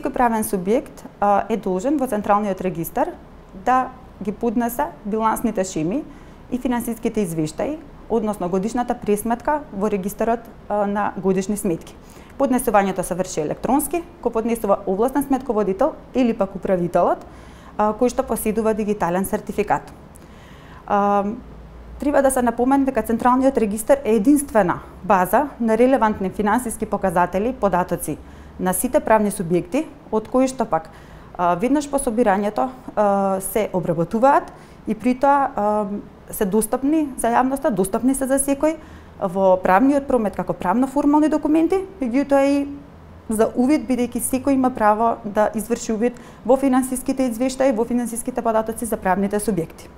секој правен субјект е должен во Централниот регистар да ги поднесе билансните шеми и финансиските извештаи, односно годишната пресметка во регистарот на годишни сметки. Поднесувањето се врши електронски, го поднесува овластен сметководител или пак управителот, кој што поседува дигитален сертификат. Треба да се напомене дека Централниот регистар е единствена база на релевантни финансиски показатели, податоци на сите правни субјекти, од кои што пак веднаш по собирањето се обработуваат и при тоа се достапни за јавноста, достапни се за секој во правниот промет како правно формални документи, меѓутоа и за увид, бидејќи секој има право да изврши увид во финансиските извештаи, во финансиските податоци за правните субјекти.